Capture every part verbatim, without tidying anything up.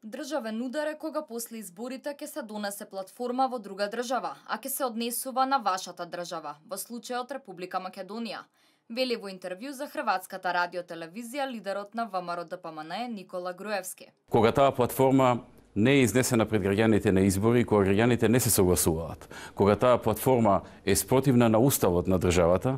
Државен удар е кога после изборите ќе се донесе платформа во друга држава, а ќе се однесува на вашата држава, во случајот Република Македонија. Вели во интервју за Хрватската радиотелевизија лидерот на ВМРО Д П М Н Никола Груевски. Кога таа платформа не е изнесена пред граѓаните на избори, кога граѓаните не се согласуваат, кога таа платформа е спротивна на уставот на државата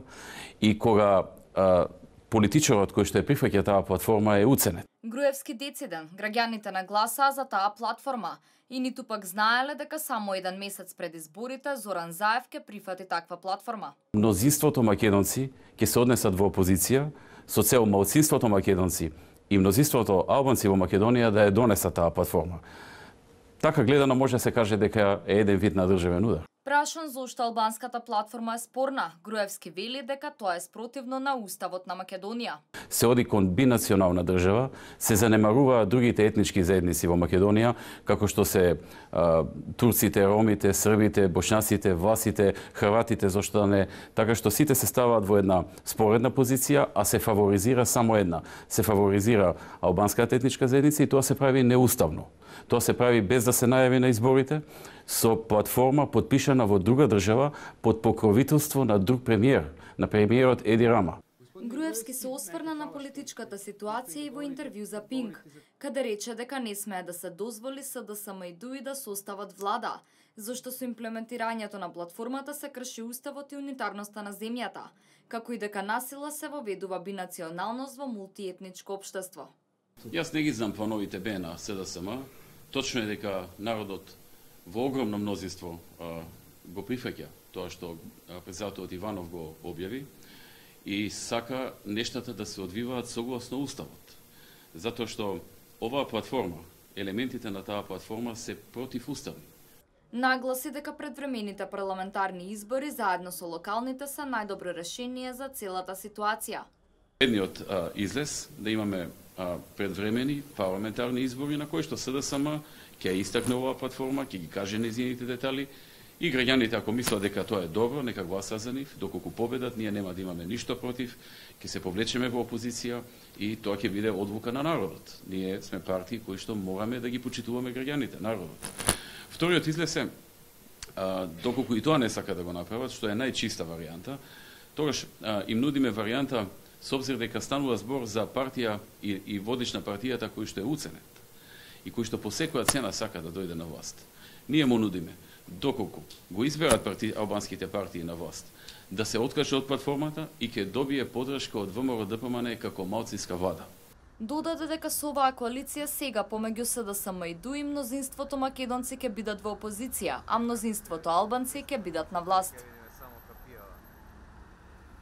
и кога а, политичарот кој што е прифаќа таа платформа е уценет. Груевски дециден, граѓаните нагласаа за таа платформа и ниту пак знаеле дека само еден месец пред изборите Зоран Заев ќе прифати таква платформа. Мнозинството македонци ќе се однесат во опозиција со цел малцинството македонци и мнозинството албанци во Македонија да ја донесат таа платформа. Така гледано може да се каже дека е еден вид на државен удар. Прашан зошто албанската платформа е спорна, Груевски вели дека тоа е спротивно на уставот на Македонија. Се оди кон бинационална држава, се занемаруваат другите етнички заедници во Македонија, како што се а, турците, ромите, србите, бошњаците, власите, хрватите, зошто да не, така што сите се ставаат во една споредна позиција, а се фаворизира само една. Се фаворизира албанската етничка заедница и тоа се прави неуставно. Тоа се прави без да се најави на изборите, со платформа подпишана во друга држава под покровителство на друг премиер, на премиерот Еди Рама. Груевски се осврна на политичката ситуација и во интервју за Пинк, каде рече дека не смее да се дозволи С Д С М и ДУ И да состават влада, зашто со имплементирањето на платформата се крши уставот и унитарноста на земјата, како и дека насила се воведува бинационалност во мултиетничко општество. Јас не ги знам плановите Б на С Д С М. Точно е дека народот во огромно мнозинство а, го прифаќа тоа што председателот Иванов го објави и сака нештата да се одвиваат согласно уставот. Затоа што оваа платформа, елементите на таа платформа се противуставни. Нагласи дека предвремените парламентарни избори заедно со локалните се најдобро решение за целата ситуација. Едниот а, излез да имаме а, предвремени парламентарни избори на кои што С Д С М ќе истакне оваа платформа, ќе ги каже нејзините детали и граѓаните ако мислат дека тоа е добро, нека гласат за нив, доколку победат, ние нема да имаме ништо против, ќе се повлечеме во опозиција и тоа ќе биде одлука на народот. Ние сме партии кои што мораме да ги почитуваме граѓаните, народот. Вториот излез е, а, доколку и тоа не сака да го направат, што е најчиста варијанта, тогаш а, им нудиме варијанта со обзир дека станува збор за партија и, и водич на партијата кој што е уценет и кој што по секоја цена сака да дојде на власт. Ние му нудиме, доколку го изберат парти, албанските партии на власт, да се откаже од платформата и ќе добие подршка од В М R Д П М Н како малцинска влада. Додаде дека со оваа коалиција сега помеѓу С Д С М и ДУ И мнозинството македонци ќе бидат во опозиција, а мнозинството албанци ќе бидат на власт.